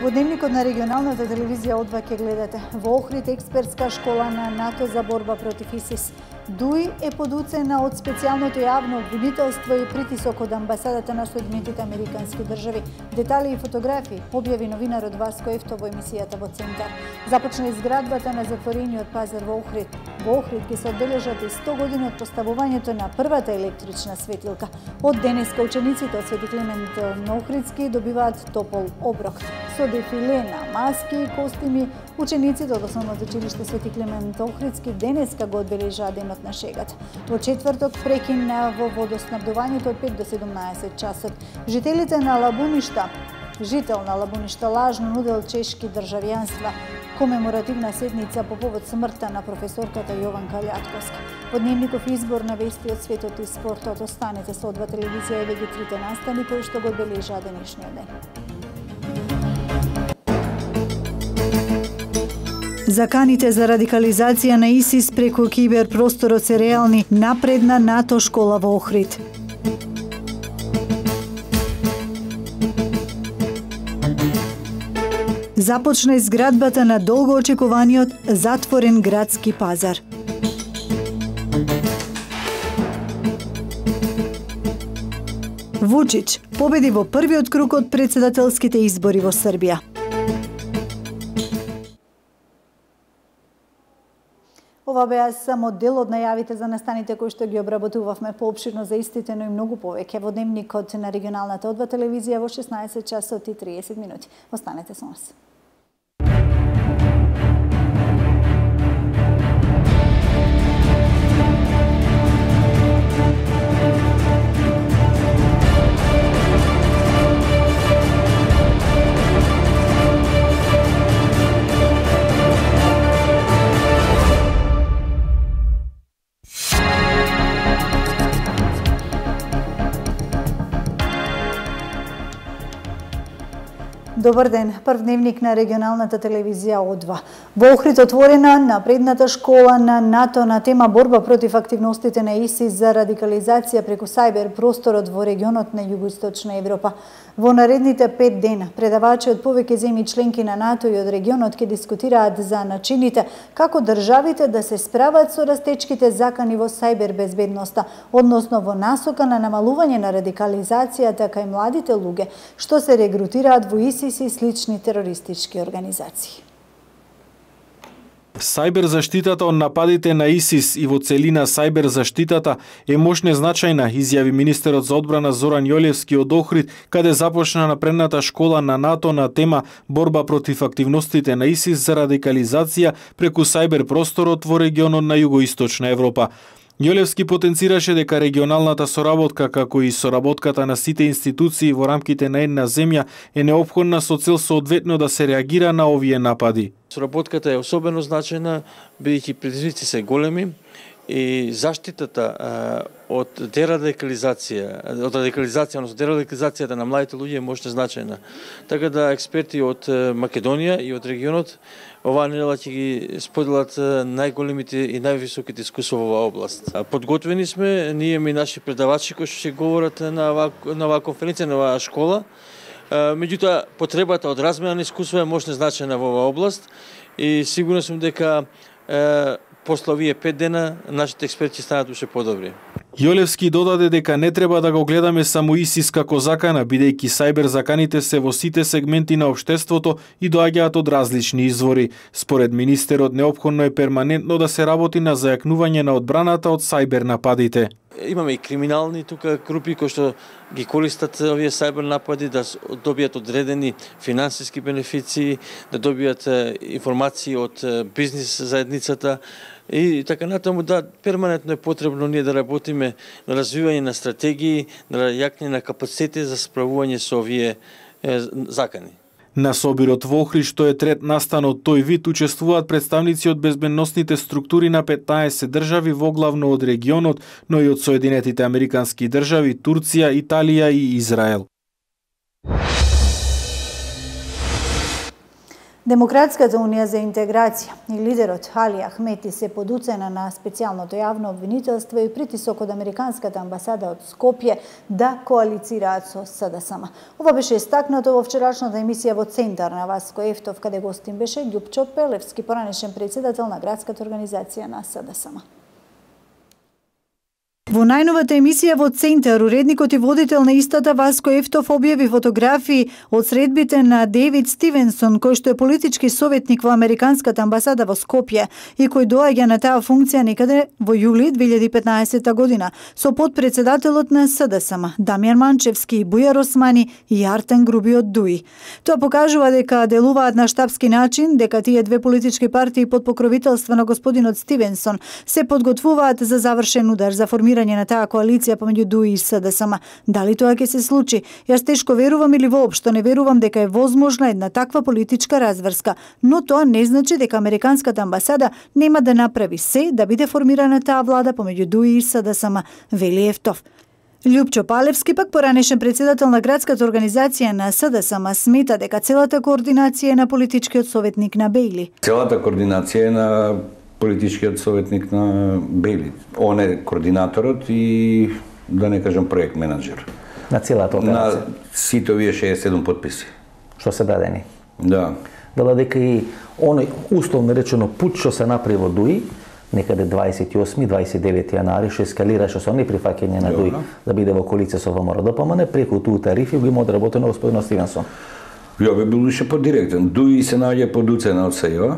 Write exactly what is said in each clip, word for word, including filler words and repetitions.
Во дневникот на регионалната телевизија О два ќе гледате. Во Охрид експертска школа на НАТО за борба против ИСИС. ДУИ е подуцена од специјалното јавно обвинителство и притисок од амбасадата на Соединетите Американски држави. Детали и фотографии објави новинарот Васко Ефто во емисијата во Центар. Започна изградбата на затворениот пазар во Охрид. Во Охрид ќе се одбележат и сто години од поставувањето на првата електрична светилка. Од денеска учениците од Свети Климент Охридски добиваат топол оброк. Со дефиле на маски и костими, учениците од Основното училиште Свети Климент Охридски денеска го одбележаа денот на шегата. Во четврток прекина во водоснабдувањето од пет до седумнаесет часот. Жителите на Лабуништа, жител на Лабуништа лажно нудел чешки државјанства, комеморативна седница по повод смртта на професорката Јованка Лјатковска. Во дневников избор на вести од светот и спортот. Останете со О два телевизија и веќе трите настани кои што го одбележаа денешниот ден. Заканите за радикализација на ИСИС преку киберпросторот се реални. Напредна НАТО школа во Охрид. Започна изградбата на долго очекуваниот затворен градски пазар. Вучич победи во првиот круг од претседателските избори во Србија. Ова беа само дел од најавите за настаните кои што ги обработувавме поопширно за истите, но и многу повеќе во дневникот на регионалната О два телевизија во шеснаесет часот и триесет минути. Останете со нас. Добар ден, прв дневник на регионалната телевизија О два. Во Охрид отворена напредната школа на НАТО на тема борба против активностите на ИСИС за радикализација преку сајбер просторот во регионот на Југоисточна Европа. Во наредните пет дена предавачи од повеќе земји членки на НАТО и од регионот ќе дискутираат за начините како државите да се справат со растечките закани во сајбер безбедноста, односно во насока на намалување на радикализацијата кај младите луѓе што се регрутираат во ИСИС и слични терористички организации. Сајбер заштитата од нападите на ИСИС и во целина сајбер заштитата е мощна и значајна, изјави министерот за одбрана Зоран Јолевски од Охрид, каде започна напредната школа на НАТО на тема борба против активностите на ИСИС за радикализација преку сајбер просторот во регионот на Југоисточна Европа. Јолевски потенцираше дека регионалната соработка, како и соработката на сите институции во рамките на една земја е неопходна со цел соодветно да се реагира на овие напади. Соработката е особено значајна, бидејќи предизвици се големи и заштитата а, од дерадикализација, од радикализација, одnosno дерадикализацијата на младите луѓе е мощна значајна. Така да експерти од Македонија и од регионот оваа недела ќе ги споделат најголемите и највисоките искуства во оваа област. Подготвени сме, ние и наши предавачи кои што ќе говорат на оваа, на оваа конференција, на оваа школа. Меѓутоа, потребата од размена на искуства е мощна значајна во оваа област и сигурно сум дека е, после овие пет дена нашите експерти станат уште подобри. Јолевски додаде дека не треба да го гледаме само ИСИС како закана, бидејќи сајбер заканите се во сите сегменти на општеството и доаѓаат од различни извори. Според министерот, неопходно е перманентно да се работи на зајакнување на одбраната од сајбер нападите. Имаме и криминални тука групи кои што ги користат овие сајбер напади да добијат одредени финансиски бенефиции, да добијат информации од бизнис заедницата и така натаму. Да, перманентно е потребно ние да работиме на развивање на стратегии, на јакне на капацитети за справување со овие е, закани. На собирот во Охрид, што е трет настан од тој вид, учествуваат представници од безбедносните структури на петнаесет држави, воглавно од регионот, но и од Соединетите Американски држави, Турција, Италија и Израел. Демократската унија за интеграција и лидерот Али Ахмети се под уцена на специјалното јавно обвинителство и притисок од Американската амбасада од Скопје да коалицираат со СДСМ. Ова беше истакнато во вчерашната емисија во Центар на Васко Ефтов, каде гостин беше Љупчо Пелевски, поранешен председател на градската организација на СДСМ. Во најновата емисија во Центар, уредникот и водител на истата Васко Ефтов објави фотографии од средбите на Дейвид Стивенсон, кој што е политички советник во Американската амбасада во Скопје и кој доаѓа на таа функција некаде во јули две илјади и петнаесетта година, со подпредседателот на СДСМ Дамјан Манчевски, Бујар Османи и Артен Груби од Дуи. Тоа покажува дека делуваат на штабски начин, дека тие две политички партии под покровителство на господинот Стивенсон се подготвуваат за завршен удар за формирање на таа коалиција помеѓу Дуи и СДСМ. Дали тоа ќе се случи? Јас тешко верувам или воопшто не верувам дека е возможна една таква политичка разврска, но тоа не значи дека Американската амбасада нема да направи се да биде формирана таа влада помеѓу Дуи и СДСМ, вели Ефтов. Љупчо Палевски, пак поранешен председател на градската организација на СДСМ, смета дека целата координација е на политичкиот советник на Бејли. Целата координација е на политичкиот советник на Бејли. Он е координаторот и, да не кажам, проект менеджер. На целата операција? На сите овие шеесет и седум подписи. Што се дадени? Да. Дала дека и оној условно речено пут што се направи во Дуи, некаде дваесет и осми дваесет и девети јануари, што ескалираше со неприфаќање на Дуи да биде во коалиција со ВМРО-ДПМН, преку туу тарифи го има одработено господинот Стивенсон. Ја би бил уште подиректен. Дуи се наоѓа под уцена од СЈО,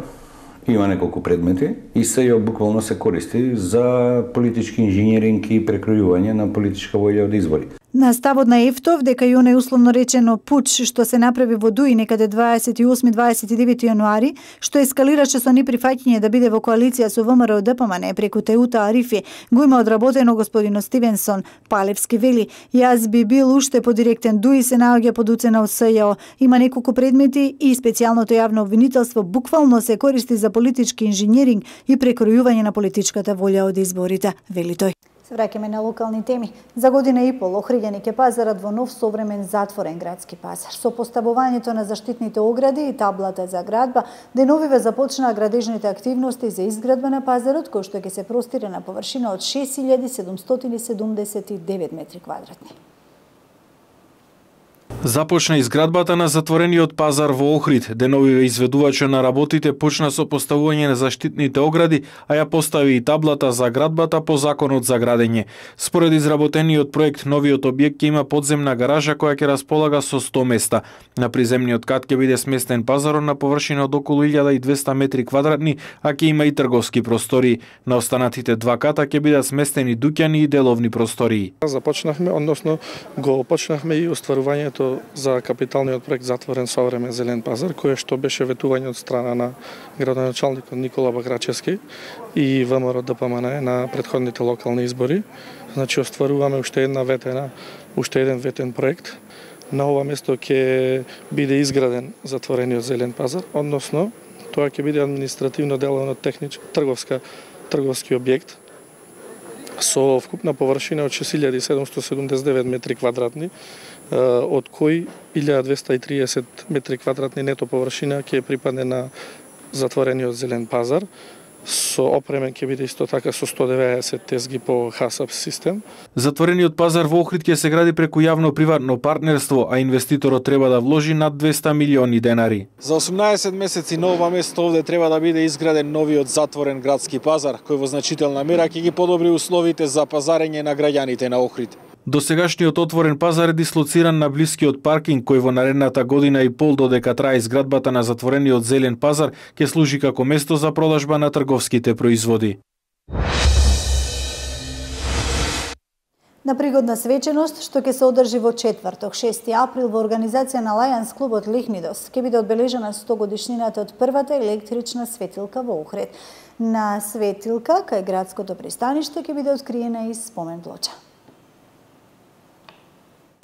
има неколку предмети и СЈО буквално се користи за политички инженеринг и прекројување на политичка волја од избори. На ставот на Ефтов дека и оној условно речено пуч што се направи во Дуи некаде дваесет и осми дваесет и девети јануари, што ескалираше со неприфаќање да биде во коалиција со ВМРО-ДПМН преку Теута Арифи, го има одработено господинот Стивенсон. Палевски вели: "Јас би бил уште подиректен. Дуи се наоѓа под уцена од СЈО. Има неколку предмети и специјалното јавно обвинителство буквално се користи за политички инженеринг и прекројување на политичката волја од изборите", вели тој. Се враќаме на локални теми. За година и пол Охридјани ќе пазарат во нов современ затворен градски пазар. Со поставувањето на заштитните огради и таблата за градба, деновиве започнаа градежните активности за изградба на пазарот, кој што ќе се простира на површина од шест илјади седумстотини и седумдесет и девет метри квадратни. Започна изградбата на затворениот пазар во Охрид. Деновиве изведувачот на работите почна со поставување на заштитните огради, а ја постави и таблата за градбата по законот за градење. Според изработениот проект, новиот објект ќе има подземна гаража која ќе располага со сто места. На приземниот кат ќе биде сместен пазарот на површина од околу илјада и двесте метри квадратни, а ќе има и трговски простории. На останатите два ката ќе бидат сместени дуќани и деловни простории. Започнавме, односно го почнавме и остварувањето за капиталниот проект Затворен современ зелен пазар, кој што беше ветување од страна на градоначалникот Никола Баграчевски и ВМРО-ДПМН на претходните локални избори. Значи остваруваме уште една ветена, уште еден ветен проект. На ова место ќе биде изграден затворениот зелен пазар, односно тоа ќе биде административно деловно технички трговска трговски објект со вкупна површина од шест илјади седумстотини седумдесет и девет метри квадратни, од кои илјада двесте и триесет метри квадратни нето површина ќе припадне на затворениот зелен пазар. Со опремен ќе биде исто така со сто деветдесет тезги по ХАСАП систем. Затворениот пазар во Охрид ќе се гради преку јавно-приватно партнерство, а инвеститорот треба да вложи над двесте милиони денари. За осумнаесет месеци на ова место овде треба да биде изграден новиот затворен градски пазар, кој во значителна мера ќе ги подобри условите за пазарење на граѓаните на Охрид. Досегашниот отворен пазар е дислоциран на блискиот паркинг, кој во наредната година и пол додека трае изградбата на затворениот зелен пазар ќе служи како место за продажба на трговските производи. На пригодна свеченост, што ќе се одржи во четврток, шести април, во организација на Лајанс клубот Лихнидос, ќе биде одбележена сто годишнината од првата електрична светилка во Охрид. На светилка кај градското пристаниште ќе биде откриена и спомен плоча.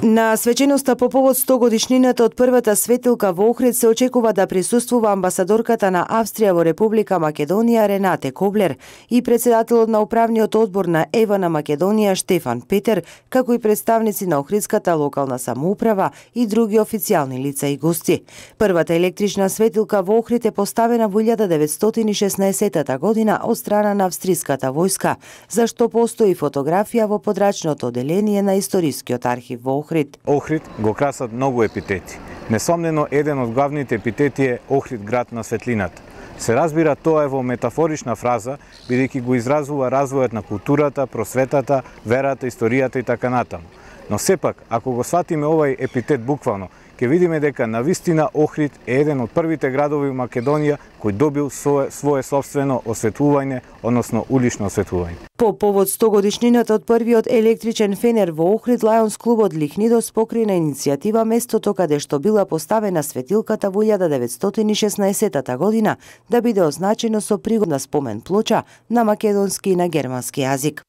На свеченоста по повод сто годишнината од првата светилка во Охрид се очекува да присуствува амбасадорката на Австрија во Република Македонија Ренате Коблер и председателот на управниот одбор на ЕВА на Македонија Штефан Петер, како и представници на Охридската локална самоуправа и други официјални лица и гости. Првата електрична светилка во Охрид е поставена во илјада деветстотини и шеснаесеттата година од страна на австриската војска, за што постои фотографија во подрачното оделение на Историскиот архив во Охрид. Охрид го красат многу епитети. Несомнено, еден од главните епитети е Охрид град на светлината. Се разбира, тоа е во метафорична фраза, бидејќи го изразува развојот на културата, просветата, верата, историјата и така натаму. Но сепак, ако го сватиме овај епитет буквално, ќе видиме дека навистина Охрид е еден од првите градови во Македонија кој добил свое, свое собствено осветлување, односно улично осветлување. По повод сто годишнината од првиот електричен фенер во Охрид, Лајонс клубот Лихнидос покрена иницијатива местото каде што била поставена светилката во илјада деветстотини и шеснаесеттата година да биде означено со пригодна спомен плоча на македонски и на германски јазик.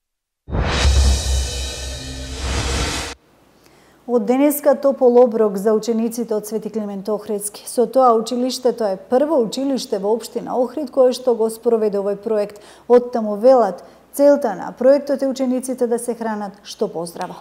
Од денеска топол оброк за учениците од Свети Климент Охридски. Со тоа училиштето е прво училиште во општина Охрид кое што го спроведе овој проект. Од таму велат, целта на проектот е учениците да се хранат што поздраво.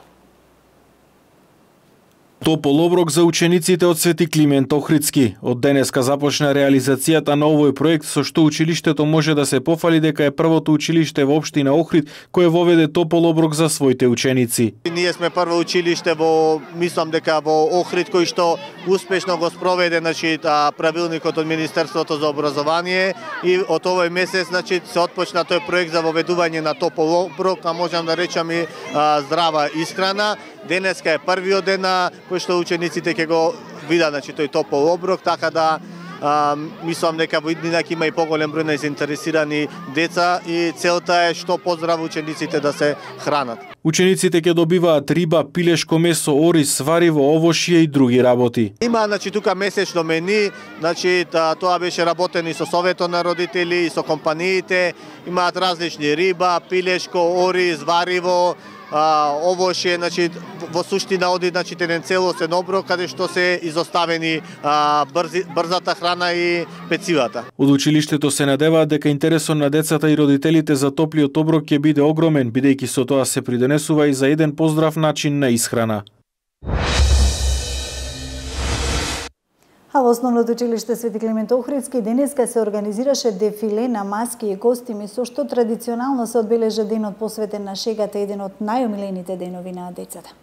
Топол оброк за учениците од Свети Климент Охридски. Од денеска започна реализацијата на овој проект со што училиштето може да се пофали дека е првото училиште во општина Охрид кое воведе топол оброк за своите ученици. Ние сме прво училиште во, мислам дека во Охрид кој што успешно го спроведе, значи, правилникот од Министерството за образование и од овој месец, значи, се отпочна тој проект за воведување на топол оброк, а можам да речам и а, здрава исхрана. Денеска е првиот ден на кој што учениците ќе го видат, значи, тој топол оброк, така да а, мислам дека во иднина ќе има и поголем број на заинтересирани деца и целта е што поздраво учениците да се хранат. Учениците ќе добиваат риба, пилешко месо, ориз, свариво, овошје и други работи. Има, значи, тука месечно мени, значи, тоа беше работено и со советот на родители и со компаниите, имаат различни риба, пилешко, ориз, вариво, А, овошје, значи, во суштина оди, значи, еден целосен оброк каде што се изоставени а, брзи, брзата храна и пецивата. Од училиштето се надеваат дека интересот на децата и родителите за топлиот оброк ќе биде огромен, бидејќи со тоа се придонесува и за еден поздрав начин на исхрана. А во основното училиште Свети Климент Охридски денеска се организираше дефиле на маски и костими со што традиционално се одбележа денот посветен на шегата, еден од најомилените денови на децата.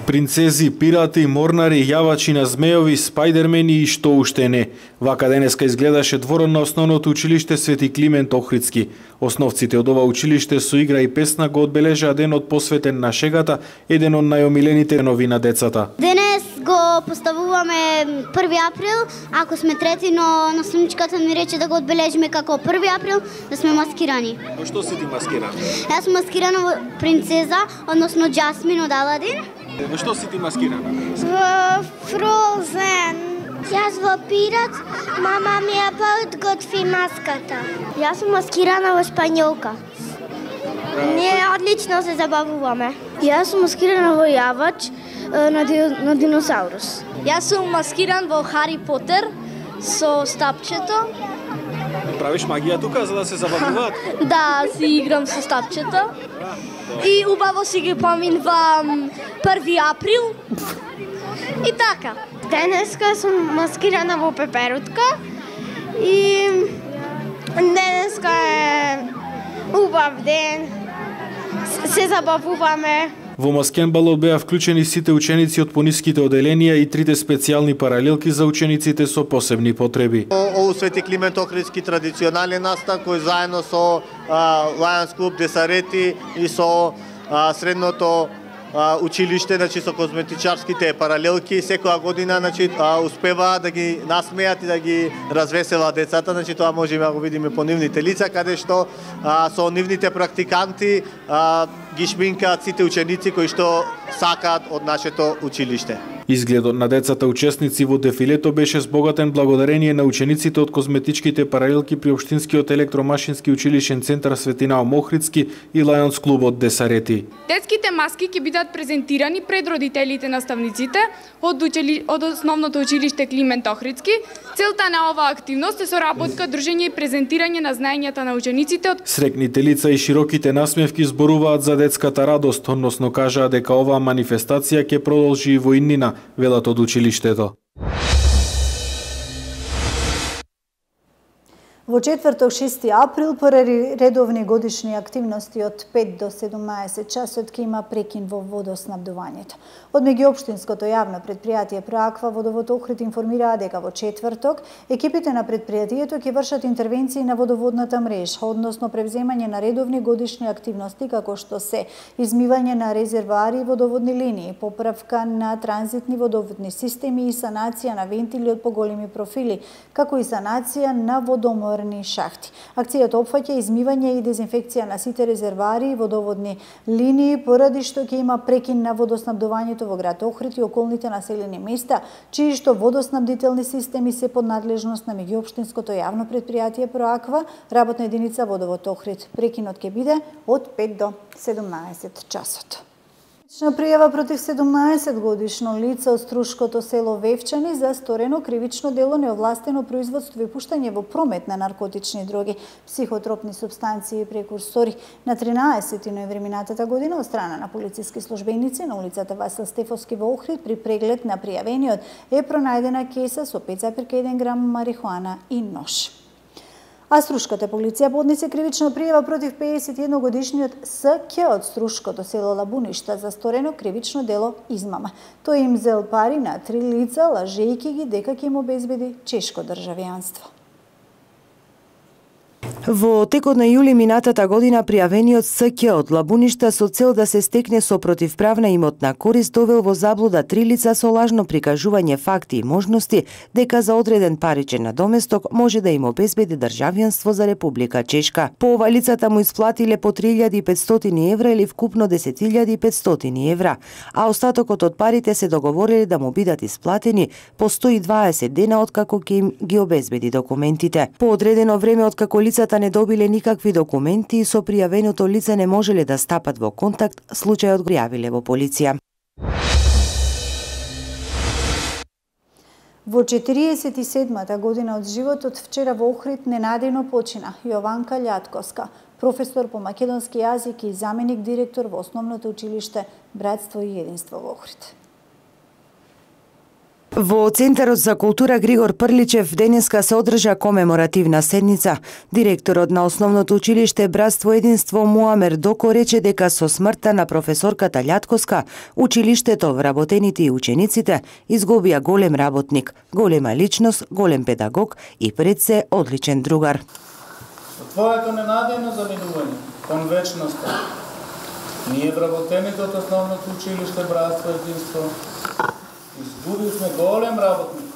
Принцези, пирати, морнари, јавачи на змејови, спајдермени и што уште не. Вака денеска изгледаше дворот на основното училиште Свети Климент Охридски. Основците од ова училиште со игра и песна го одбележаа денот посветен на шегата, еден од најомилените денови на децата. Денес го поставуваме први април, ако сме трети, но наследничката ни рече да го одбележиме како први април, да сме маскирани. Во што си ти маскирана? Јас сум маскирана во принцеза, односно Джасмин од Аладин. Во што си ти маскирана? Во Фрозен. Јас во пират, мама ми ја подготви маската. Јас сум маскирана во Шпањолка. Ние одлично се забавуваме. Јас сум маскирана во јавач на, ди, на диносаурус. Јас сум маскиран во Хари Потер со стапчето. Правиш магија тука за да се забавуваат? Да, си играм со стапчето. И убаво си ги поминувам први април. И така. Денеска сум маскирана во пеперутка и денеска е убав ден. Се забавуваме. Во маскенбалот беа вклучени сите ученици од пониските оделенија и трите специјални паралелки за учениците со посебни потреби. Ово Свети Климент Охридски традиционален настан кој заедно со Лајонс клуб Десарети и со а, средното а, училиште, значи со козметичарските паралелки, секоја година, значи, успева да ги насмеат и да ги развеселат децата, значи тоа можеме да го видиме по нивните лица, каде што а, со нивните практиканти а, ги шминкаат сите ученици кои што сакаат од нашето училиште. Изгледот на децата учесници во дефилето беше збогатен благодарение на учениците од козметичките паралелки при Општинскиот електромашински училишен центар Светинао Мохридски и Лајонс клубот Десарети. Детските маски ќе бидат презентирани пред родителите наставниците од, учили... од основното училиште Климент Охридски. Целта на оваа активност е соработка, дружење и презентирање на знаењата на учениците од Срекните лица и широките насмевки зборуваат за детската радост, односно кажаа дека оваа манифестација ќе продолжи и во иднина, велат од училиштето. Во четврток шести април поради редовни годишни активности од пет до седумнаесет часот ќе има прекин во водоснабдувањето. Од меѓуопштинското јавно предпријатие Проаква Водовод Охрид информираа дека во четврток екипите на предпријатието ќе вршат интервенции на водоводната мрежа, односно превземање на редовни годишни активности како што се измивање на резервоари и водоводни линии, поправка на транзитни водоводни системи и санација на вентили од поголеми профили, како и санација на водоморни шахти. Акцијата опфаќа измивање и дезинфекција на сите резервоари и водоводни линии, поради што ќе има прекин на водоснабдувањето во град Охрид и околните населени места, чии што водоснабдителни системи се под надлежност на меѓуопштинското јавно предпријатие Проаква, работна единица Водовод Охрид. Прекинот ќе биде од пет до седумнаесет часот. Кривична пријава против седумнаесет годишно лице од Струшкото село Вевчани за сторено кривично дело неовластено производство и пуштање во промет на наркотични дроги, психотропни супстанции и прекурсори. На тринаесети ноември минатата година од страна на полициски службеници на улицата Васил Стефовски во Охрид при преглед на пријавениот е пронајдена кеса со пет зарез еден грам марихуана и нож. А Струшката полиција поднесе кривична пријава против пеесет и едногодишниот С Ќ од Струшкото село Лабуништа за сторено кривично дело измама. Тој им зел пари на три лица, лажејќи ги дека ќе им обезбеди чешко државјанство. Во текот на јули минатата година пријавениот С Ќ од Лабуништа со цел да се стекне со противправна имотна корист довел во заблуда три лица со лажно прикажување факти и можности дека за одреден паричен надоместок може да им обезбеди државјанство за Република Чешка. По ова лицата му исплатиле по три илјади и петстотини евра или вкупно десет илјади и петстотини евра, а остатокот од парите се договориле да му бидат исплатени по сто и дваесет дена откако ќе им ги обезбеди документите. По одредено време откако лицата не добиле никакви документи и со пријавеното лице не можеле да стапат во контакт, случајот го пријавиле во полиција. Во четириесет и седмата година од животот вчера во Охрид ненадејно почина Јованка Љатковска, професор по македонски јазик и заменик директор во основното училиште Братство и единство во Охрид. Во Центарот за култура Григор Прличев денеска се одржа комеморативна седница. Директорот на основното училиште Братство и единство Муамер Доко рече дека со смртта на професорката Љатковска, училиштето, вработените и учениците изгубија голем работник, голема личност, голем педагог и пред се одличен другар. Твоето ненадејно заминување кон вечноста, ние вработените од основното училиште Братство и единство изгубивме голем работник,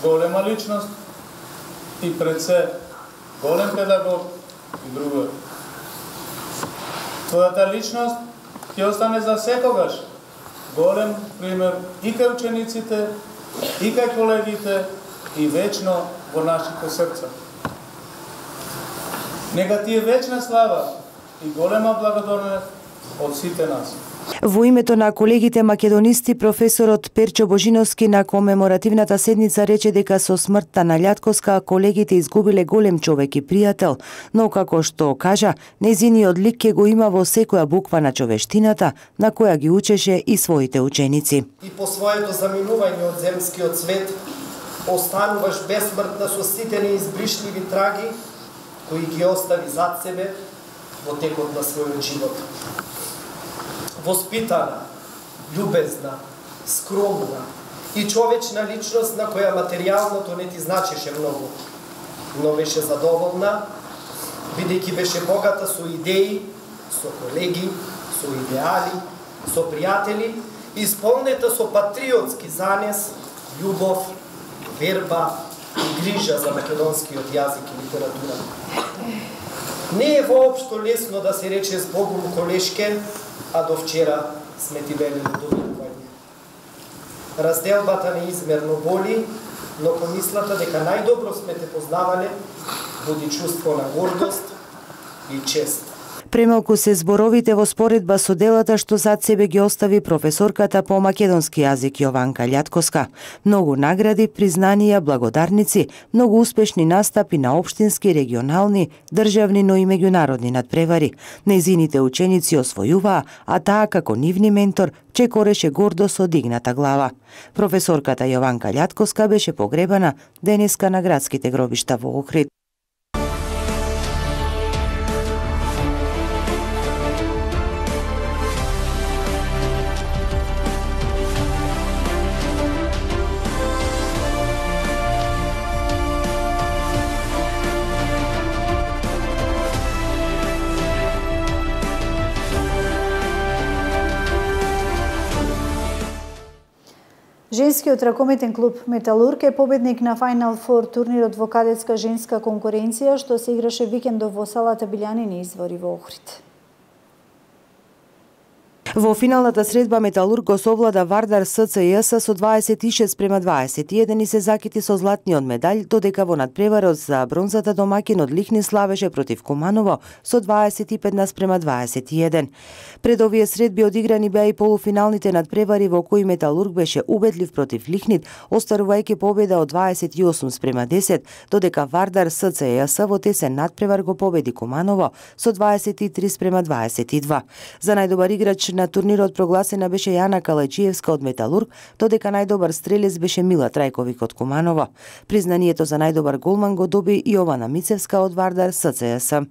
голема личност и пред се голем педагог и другар. Твојата личност ќе остане за секогаш голем пример и кај учениците, и кај колегите и вечно во нашите срца. Нека ти е вечна слава и голема благодарност од сите нас. Во името на колегите македонисти, професорот Перчо Божиновски на комеморативната седница рече дека со смртта на Љатковска колегите изгубиле голем човек и пријател, но како што кажа, незиниот лик ќе го има во секоја буква на човештината, на која ги учеше и своите ученици. И по своето заминување од земскиот свет, остануваш безсмртна со сите неизбришливи траги, кои ги остави зад себе во текот на својот живот. Воспитана, љубезна, скромна и човечна личност на која материјалното не ти значеше многу, но беше задоволна, бидејќи беше богата со идеи, со колеги, со идеали, со пријатели, исполнета со патриотски занес, љубов, верба и грижа за македонскиот јазик и литература. Не е воопшто лесно да се рече збогум колешке, а до вчера сме ти велили довикување. Разделбата неизмерно боли, но помислата дека најдобро сме те познавале, буди чувство на гордост и чест. Премалку се зборовите во споредба со делата што зад себе ги остави професорката по македонски јазик Јованка Љатковска. Многу награди, признанија, благодарници, многу успешни настапи на општински, регионални, државни, но и меѓународни надпревари. Нејзините ученици освојуваа, а таа како нивни ментор чекореше гордо со дигната глава. Професорката Јованка Љатковска беше погребана денеска на градските гробишта во Охрид. Женскиот ракометен клуб Металург е победник на Final Four турнирот во кадетска женска конкуренција што се играше викендов во салата Билјанини извори во Охрид. Во финалната средба Металург го совлада Вардар СЦЈС со дваесет и шест према дваесет и еден и се закити со златниот медалј, додека во надпреварот за бронзата домаќин од Лихни славеше против Куманово со дваесет и пет наспрема дваесет и еден. Пред овие средби одиграни беа и полуфиналните надпревари во кои Металург беше убедлив против Лихнит, остварувајќи победа од дваесет и осум спрема десет, додека Вардар СЦЈС во тесен надпревар го победи Куманово со дваесет и три спрема дваесет и два. За најдобар играч на турнирот прогласена беше Јана Калајчиевска од Металург, додека најдобар стрелец беше Мила Трајковик од Куманово. Признанието за најдобар голман го доби Јована Мицевска од Вардар СЦЈС.